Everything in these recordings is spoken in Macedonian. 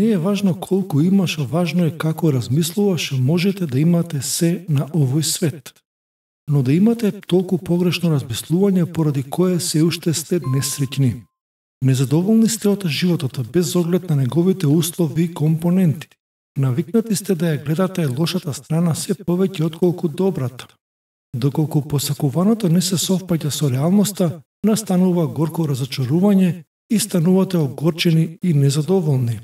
Не е важно колку имаш, важно е како размислуваш, можете да имате се на овој свет. Но да имате толку погрешно размислување поради кое се уште сте несреќни. Незадоволни сте од животот без оглед на неговите услови и компоненти. Навикнати сте да ја гледате лошата страна се повеќе отколку добрата. Доколку посакуваното не се совпаѓа со реалноста, настанува горко разочарување и станувате огорчени и незадоволни.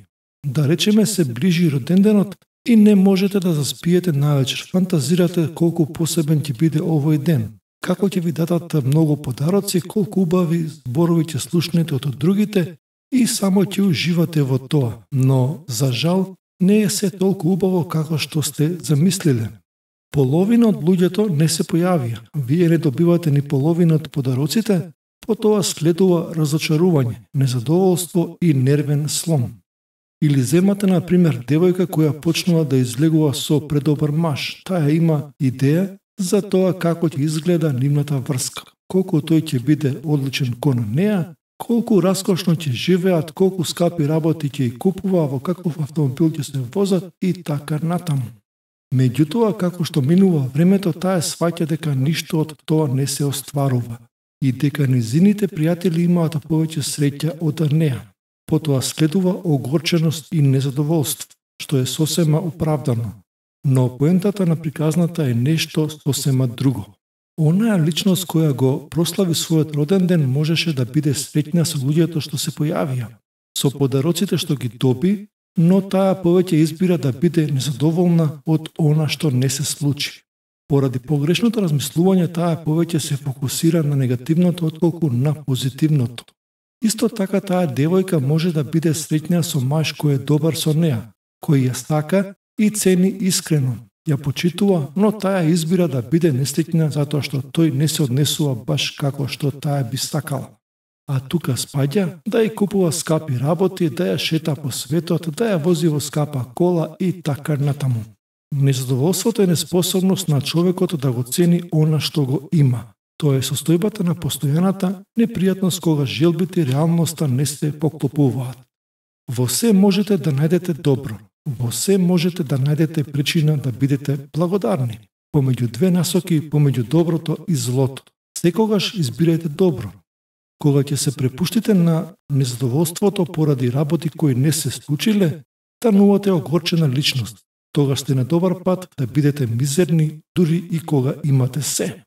Да речеме се ближи роденденот и не можете да заспиете навечер. Фантазирате колку посебен ќе биде овој ден, како ќе ви дадат многу подароци, колку убави зборови ќе слушнете од другите и само ќе уживате во тоа. Но, за жал, не е се толку убаво како што сте замислиле. Половина од луѓето не се појавија. Вие не добивате ни половина од подароците, потоа следува разочарување, незадоволство и нервен слом. Или земате, на пример, девојка која почнува да излегува со предобар маж. Таа има идеја за тоа како ќе изгледа нивната врска, колку тој ќе биде одличен кон неа, колку раскошно ќе живеат, колку скапи работи ќе и купува, во каков автомобил ќе се возат и така натаму. Меѓутоа, како што минува времето, таа сваќа дека ништо од тоа не се остварува и дека низините пријатели имаат повеќе среќа од неа. Потоа следува огорченост и незадоволство, што е сосема оправдано. Но поентата на приказната е нешто сосема друго. Онаа личност која го прослави својот роден ден можеше да биде среќна со луѓето што се појавија, со подароците што ги доби, но таа повеќе избира да биде незадоволна од она што не се случи. Поради погрешното размислување таа повеќе се фокусира на негативното отколку на позитивното. Исто така таа девојка може да биде среќна со маж кој е добар со неа, кој ја сака и цени искрено, ја почитува, но таа избира да биде несреќна затоа што тој не се однесува баш како што таа би сакала. А тука спаѓа да ја купува скапи работи, да ја шета по светот, да ја вози во скапа кола и така натаму. Незадоволството е неспособност на човекот да го цени она што го има. Тоа е состојбата на постојаната непријатност кога желбите и реалноста не се поклопуваат. Во се можете да најдете добро. Во се можете да најдете причина да бидете благодарни. Помеѓу две насоки, помеѓу доброто и злото. Секогаш избирајте добро. Кога ќе се препуштите на незадоволството поради работи кои не се случиле, станувате огорчена личност. Тогаш сте на добар пат да бидете мизерни дури и кога имате се.